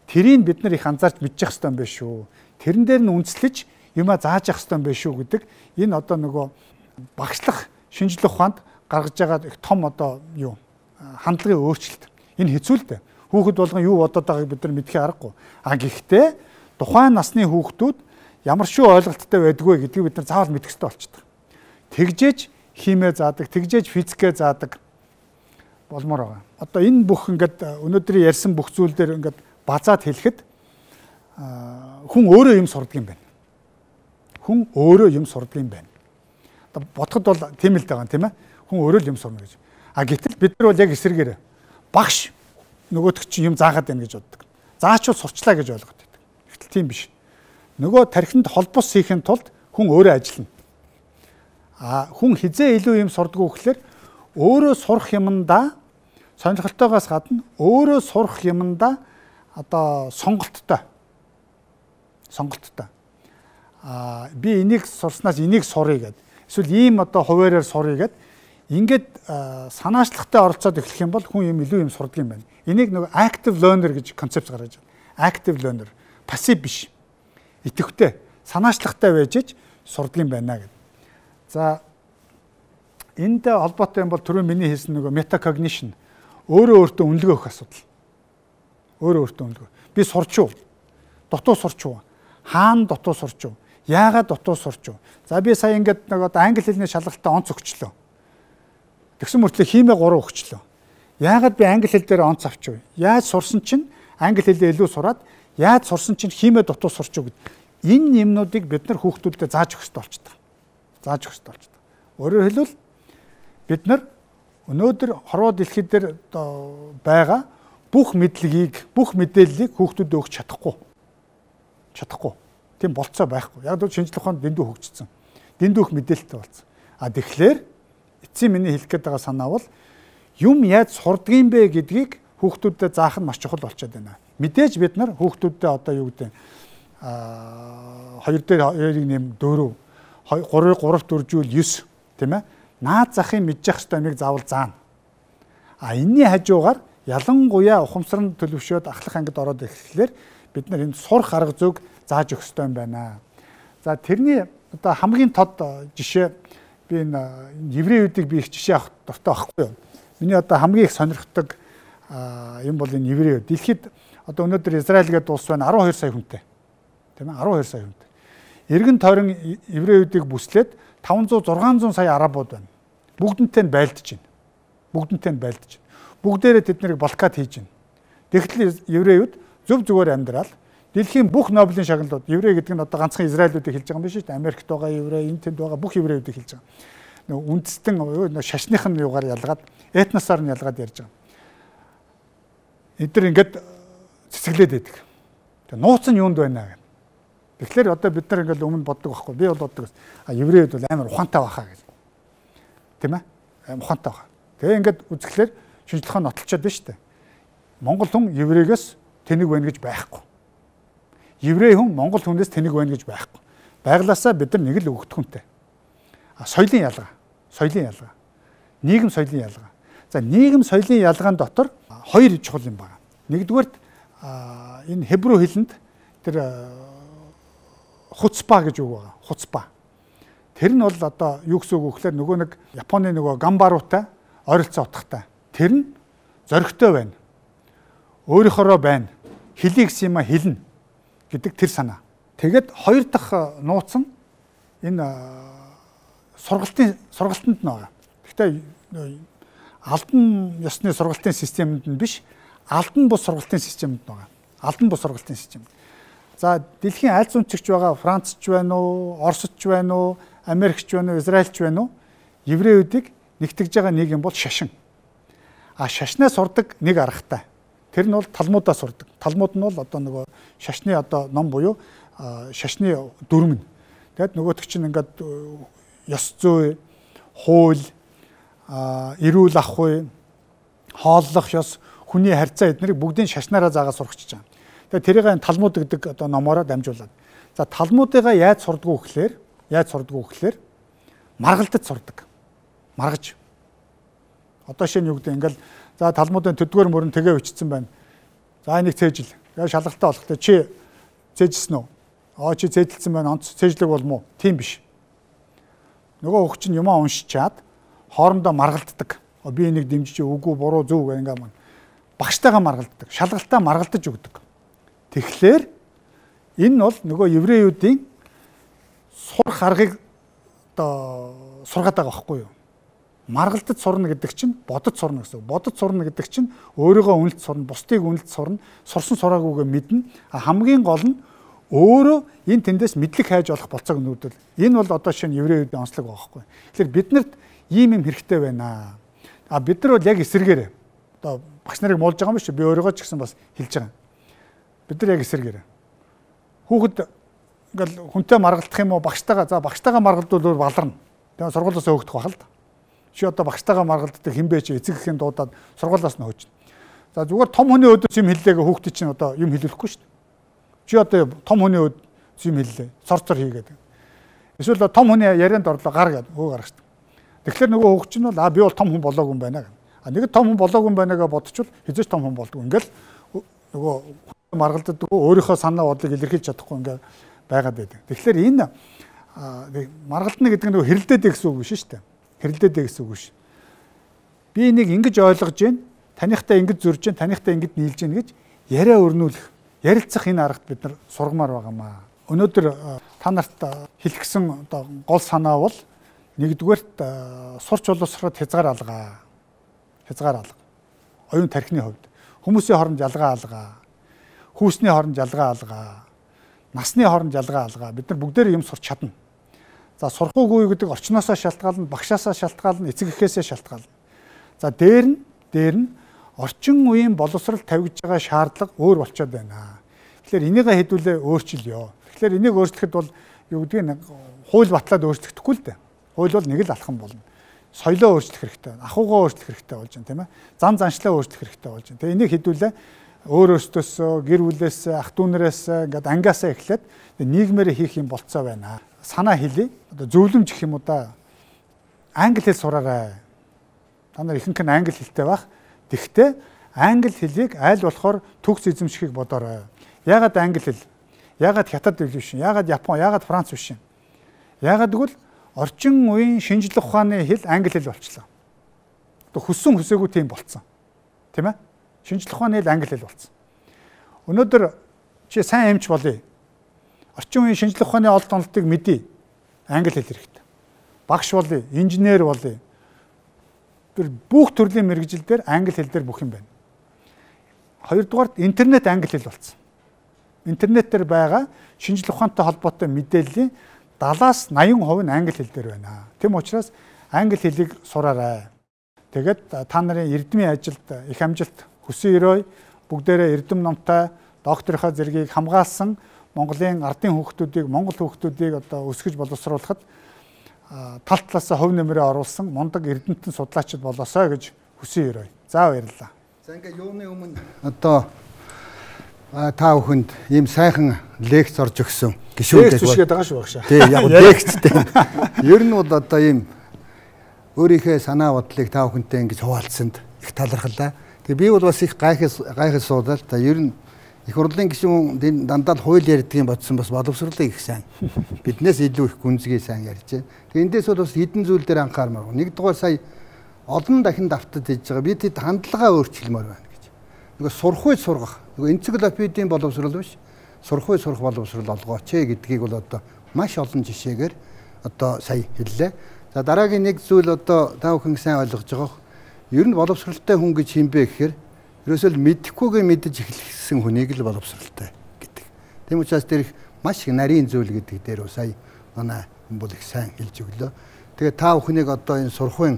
Тэрийг бид нар их анзаарч мэдчих хэрэгтэй юм байна шүү. Тэрэн дээр нь үндэслэж юмаа зааж явах хэрэгтэй юм байна шүү гэдэг энэ одоо нөгөө багшлах шинжилгээ ухаанд гаргаж байгаа их том одоо юу хандлагын өөрчлөлт. Энэ хэцүү л дээ. Хүүхэд болгон юу бодоод байгааг бид нар мэдхий аргагүй. А гэхдээ тухайн насны хүүхдүүд ямар шүү ойлголттой байдгүй гэдгийг бид нар заавал мэдэх хэрэгтэй болчихдог. Тэгжээж химээ заадаг, тэгжээж физикээ заадаг болмоор байгаа. Одоо энэ бүх ингээд өнөөдөр ярьсан бүх зүйл дээр ингээд базаад хэлэхэд хүн өөрөө юм сурдаг юм байна. Хүн өөрөө юм сурдаг юм байна. Одоо бодоход бол тийм л байгаа юм тийм ээ. Хүн өөрөө л юм сурна гэж. А гэтэл бид нар бол яг эсрэгээр багш нөгөөдөг чинь юм заагаад байна гэж боддог. Заачвал сурчлаа гэж ойлгоод байдаг. Гэтэл тийм биш. Нөгөө тархинд холбос хийхин тулд хүн өөрөө ажиллана. А хүн хизээ илүү юм сурдаг уу гэхэлэр өөрөө сурах юмдаа сонирхолтойгоос гадна өөрөө сурах юмдаа одоо сонголттой. Сонголттой. А би энийг сурснаас энийг суръя гэд. Эсвэл ийм одоо хуваараар суръя гэд. Ингээд санаачлагтай оролцоод эхлэх юм бол хүн юм илүү юм сурдаг юм байна. Энийг нөгөө active learner гэж концепт гаргаж байна. Active learner, пассив биш. Идэвхтэй, санаачлагтай байж сурдаг юм байна гэд. За энэтэй холбоотой юм бол түрүү миний хэлсэн нөгөө metacognition өөрөө өөртөө үнэлгээ өгөх асуудал. Өөрөө өөртөө үнэлгээ. Би сурч уу? Дутуу сурч уу? Хаана дутуу сурч уу? Яагаад дутуу сурч уу? За би сая ингээд нэг одоо англи хэлний шалгалтад онц өгчлөө. Тэгсэн мөртлөө химээ гурав өгчлөө. Яагаад би англи хэл дээр онц авч вэ? Яаж сурсан чинь англи хэлээ илүү сураад яаж сурсан чинь химээ дутуу сурч уу гэд. Энэ юмнуудыг бид нар хүүхдүүдэд зааж өгөх хэрэгтэй болчихдог. Зааж өгөх хэрэгтэй болчихдог. Өөрөөр хэлбэл бид нар өнөөдөр хорвоо дэлхий дээр байгаа бүх мэдлэгийг, бүх мэдээллийг хүүхдүүдэд өгч чадахгүй. Чадахгүй. Тийм болцоо байхгүй. Яг л шинжилгээ ухаанд дэндүү хөгжсөн. Дэндүү их мэдээлэлтэй болсон. А тэгэхээр эцсийн миний хэлэх гээд байгаа санаа бол юм яаж сурдгийм бэ гэдгийг хүүхдүүдэд заах нь маш чухал болчиход байна. Мэдээж бид нар хүүхдүүдэд одоо юу гэдэг аа хоёр дээр хоёрыг нэм дөрөв, гурав гурав дөржүүл девь тийм ээ. Наад захын мэдчих хэвээр юмыг заавал заана. А энэний хажуугаар ялангуяа ухамсар нь төлөвшөөд ахлах ангид ороод ирэхлээр бид нар энэ сурах арга зүйг зааж өгөх ёстой юм байна. За тэрний одоо хамгийн тод жишээ би энэ еврейүүдийг би их жишээ авах дуртай байхгүй юу. Миний одоо хамгийн их сонирхдаг юм бол энэ еврейүүд. Дэлхийд одоо өнөөдөр Израиль гэдэг улс байна арван хоёр сая хүнтэй. Тийм ээ арван хоёр сая хүнтэй. Эргэн тойрон еврейүүдийг бүслээд таван зуун зургаан зуун сая арабууд байна. Бүгднтэй нь байлдаж байна. Бүгднтэй нь байлдаж байна. Бүгдээрээ тэд нарыг блокад хийж байна. Тэгэхдээ еврейүүд зөв зүгээр амьдрал дэлхийн бүх Нобелийн шагналууд еврей гэдэг нь одоо ганцхан Израилүүдийг хэлж байгаа юм биш үү? Америкт байгаа еврей, энэ тэнд байгаа бүх еврейүүдийг хэлж байгаа. Нэг үндэстэн шашных нь юугаар ялгаад, этносоор нь ялгаад ярьж байгаа. Эдгээр ингээд цэцгэлээд байдаг. Тэгээ нууц нь юунд байна гэх. Тэгэхээр одоо бид нар ингээд өмнө боддог байхгүй. Би бол боддог. А еврейүүд бол амар ухаантай байхаа гэж. Тийм ээ? Амар ухаантай байхаа. Тэгээ ингээд үзэхлээр шинжилгээ нь нотолчод байна шүү дээ. Монгол хүн еврейгээс тэнэг байна гэж байхгүй. Еврей хүн монгол хүнээс тэнэг байна гэж байхгүй. Байглаасаа бид нар нэг л өгдөхүнтэй. А соёлын ялгаа. Соёлын ялгаа. Нийгэм соёлын ялгаа. За нийгэм соёлын ялгаан дотор хоёр чухал юм байна. Нэгдүгээрт энэ хебрүү хэлэнд тэр хуцпа гэж үг байгаа. Хуцпа. Тэр нь бол одоо юу гэсэн үг вэ гэхээр нөгөө нэг Японы нөгөө гамбаруутай ойролцоо утгатай. Тэр нь зоригтой байна. Өөрийнхоороо байна. Хэлийг юм хэлнэ гэдэг тэр санаа. Тэгэд хоёр дахь нууц нь энэ сургалтын сургалтанд нь байгаа. Гэхдээ албан ёсны сургалтын системэнд нь биш, албан бус сургалтын системэнд нь байгаа. Албан бус сургалтын систем. За дэлхийн айлц үнцэгч байгаа Францч байна уу, Оросч байна уу, Америкч байна уу, Израильч байна уу? евреydийг нэгтгэж байгаа нэг юм бол шашин. А шашнаа сурдаг нэг аргатай. Тэр нь бол талмуудаа сурдаг. Талмууд нь бол одоо нөгөө шашны одоо ном буюу шашны дүрм. Тэгэд нөгөөтг чинь ингээд ёс зүй, хууль, эрүүл ах уй, хооллох ёс, хүний харьцаа эднэрийг бүгдийг шашнаараа заагаад сурахчиж байгаа. Тэгээ тэрийг талмуд гэдэг одоо номоороо дамжуулаад. За талмуудыгаа яаж сурдгуу гэхээр, яаж сурдгуу гэхээр маргалдаж сурдаг. Маргаж. Одоо шинэ юу гэдэг ингээл за талмуудын төдгөр мөрөн тэгээ өчсөн байна. За энийг цээжил. Тэгээ шалгалтаа болохтой чи цээжсэн үү? Аа чи цээжилсэн байна. Онц цээжлэг болмоо. Тийм биш. Нөгөө хөх чинь юмаа уншичаад хоорондоо маргалддаг. Би энийг дэмжиж үгүй буруу зөв гэх ингээм багштайгаа маргалддаг. Шалгалтаа маргалдаж өгдөг. Тэгэхээр энэ бол нөгөө евреydийн сурах аргыг одоо сургаад байгаа байхгүй юу? Маргалдаж сурна гэдэг чинь бодож сурна гэсэн. Бодож сурна гэдэг чинь өөрийгөө үнэлж сурна, бусдыг үнэлж сурна, сурсан сураагүйгээ мэднэ. Хамгийн гол нь өөрөө энэ тэндээс мэдлэг хайж олох болцоог нүүдэл. Энэ бол одоо шинэ евреydийн онцлог байгаа байхгүй. Тэгэхээр биднэрт ийм юм хэрэгтэй байна. А бид нар бол яг эсэргээрээ одоо багш нарыг муулж байгаа юм биш үү? Би өөрийгөө ч гэсэн бас хэлж байгаа. Бид нар яг эсэргээрээ. Хүүхэд ингээл хүнтэй маргалдах юм уу багштайгаа за багштайгаа маргалдвал баларна. Тэгээ сургуулиасаа хөөгдөх бахал та. Чи одоо багштайгаа маргалддаг хинбэ чи эцэг эхийн дуудаад сургуулиас нь хөөж. За зүгээр том хүний өдөөс юм хэллээгээ хүүхдээ чинь одоо юм хэлүүлэхгүй шүү дээ. Чи одоо том хүний өд юм хэллээ. Цорцор хийгээд. Эсвэл том хүний ярианд орлоо гар гэдэг өө гарах шүү дээ. Тэгэхээр нөгөө хүүхд чинь бол а би бол том хүн болоогүй юм байна. А нэг том хүн болоогүй юм байна гэж бодчихвол хизээч том хүн болдгоо. Ингээл нөгөө маргалддаг өөрийнхөө санаа бодлыг илэрхийлж чадахгүй ингээ байгаад байдаг. Тэгэхээр энэ маргалдана гэдэг нь нөгөө хэрэлдээд гэсэн үг биш шүү дээ. Хэрэлдээд гэсэн үг биш. Би энийг ингэж ойлгож байна. Танихтай ингэж зурж байна. Танихтай ингэж нийлж байна гэж яриа өрнүүлэх, ярилцах энэ аргад бид нар сургамаар байгаамаа. Өнөөдөр та нарт хэлгэсэн одоо гол санаа бол нэгдүгээрт сурч боловсроход хязгаар алгаа. Хязгаар алга. Оюун тархины хувьд хүмүүсийн хооронд ялгаа алгаа. Хүүсний хооронд ялгаа алгаа. Насны хооронд ялгаа алгаа. Бид нар бүгдээр юм сурч чадна. За сурахгүй гэдэг орчноосоо шалтгаална, багшаасаа шалтгаална, эцэг эхээсээ шалтгаална. За дээр нь дээр нь орчин үеийн боловсрал тавьж байгаа шаардлага өөр болчиход байна. Тэгэхээр энийгээ хэдүүлээ өөрчилё. Тэгэхээр энийг өөрчлөхөд бол юу гэдгийг хууль батлаад өөрчлөгдөхгүй л дээ. Хууль бол нэг л алхам болно. Соёлоо өөрчлөх хэрэгтэй, ахуйгаа өөрчлөх хэрэгтэй болж байна, тийм ээ. Зан заншлаа өөрчлөх хэрэгтэй болж байна. Тэгээ энийг хэдүүлээ өөр өөртөөсөө, гэр бүлээс, ах дүү нараас ингээд ангиасаа эхлээд нийгмээр хийх юм болцоо байна. Санаа хэлий. Одоо зөвлөмж гэх юм уу да. Англи хэл сураарай. Та нар ихэнх нь англи хэлтэй байх. Тэгвэл англи хэлийг аль болохоор төгс эзэмшихийг бодоорой. Яагаад англи хэл? Яагаад хятад хэл биш? Яагаад Япон? Яагаад Франц биш? Яагаад гэвэл орчин үеийн шинжлэх ухааны хэл англи хэл болчихлоо. Одоо хүссэн хүсээгүй тийм болцсон. Тийм ээ? Шинжлэх ухааны хэл англи хэл болцсон. Өнөөдөр чи сайн эмч болъё. Орчин үеийн шинжлэх ухааны олд онолтыг мэдээ. Англи хэл хэрэгтэй. Багш болъё, инженер болъё. Тэр бүх төрлийн мэргэжил дээр англи хэл дээр бүх юм байна. Хоёрдугаарт интернет англи хэл болсон. Интернетээр байгаа шинжлэх ухаантай холбоотой мэдээллийн дадлаас наян хувь нь англи хэл дээр байна. Тэм учраас англи хэлийг сураарай. Тэгээд та нарын эрдмийн ажилд их амжилт хүсэн өрөө бүгдээрээ эрдэм номтой докторийнхаа зэргийг хамгаалсан Монголын ардын хүүхдүүдийг, Монгол хүүхдүүдийг одоо өсгөж боловсруулахад тал талаасаа хувь нэмрээ оруулсан мундаг эрдэмтэн судлаачид болоосоо гэж хүсэн өрөө. За баярлалаа. За ингээ юуны өмнө одоо та бүхэнд ийм сайхан лекц орж өгсөн гişүүд гэж байгаа шүү багшаа. Тий, яг лекцтэй. Ер нь бол одоо ийм өөрийнхөө санаа бодлыг та бүхэнтэй ингэж хуваалцсанд их талархлаа. Тэгээ би бол бас их гайхас гайхас суудал. Та ер нь их хурлын гишүүн дандаа л хууль ярьдгийг бодсон бас боловсруулах их сайн. Биднээс илүү их гүнзгий сайн ярьж байна. Тэгээ эндээс бол бас хэдэн зүйл дээр анхаармаар. Нэгдүгээр сая олон дахин давтад хийж байгаа. Би тэд хандлагаа өөрчилмөр байна гэж. Нөгөө сурах үе сургах. Нөгөө энциклопедийн боловсрол биш. Сурах үе сурах боловсрол олгооч гэдгийг бол одоо маш олон жишээгээр одоо сая хэллээ. За дараагийн нэг зүйл одоо та бүхэн сайн ойлгож байгаа. Ер нь боловсролтой хүн гэж хэмбэ гэхээр ерөөсөө л мэдэхгүйгээ мэдэж эхлэсэн хүнийг л боловсролтой гэдэг. Тийм учраас тэр их маш их нарийн зүйл гэдэг дээр сая манай хүн бол их сайн хэлж өглөө. Тэгээ та бүхнийг одоо энэ сурахын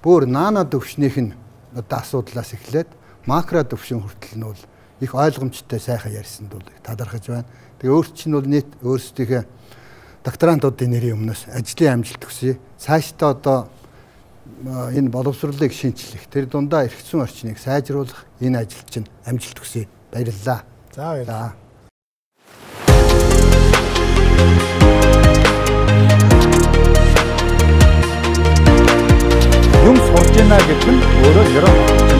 бүр наана төвшнийх нь одоо асуудлаас эхлээд макро төвшин хүртэл нь бол их ойлгомжтой сайхан ярьсанд бол талархаж байна. Тэгээ өөрт чинь бол нийт өөрсдийнхээ докторантуудын нэрийн өмнөөс ажлын амжилт хүсье. Цаашдаа одоо энэ боловсролыг шинчлэх, тэр дундаа эргэцсэн орчныг сайжруулах энэ ажил чинь амжилт хүсье. Баярлалаа. За баярлалаа. Юм сурж байна гэдэг нь өөрөө ерөн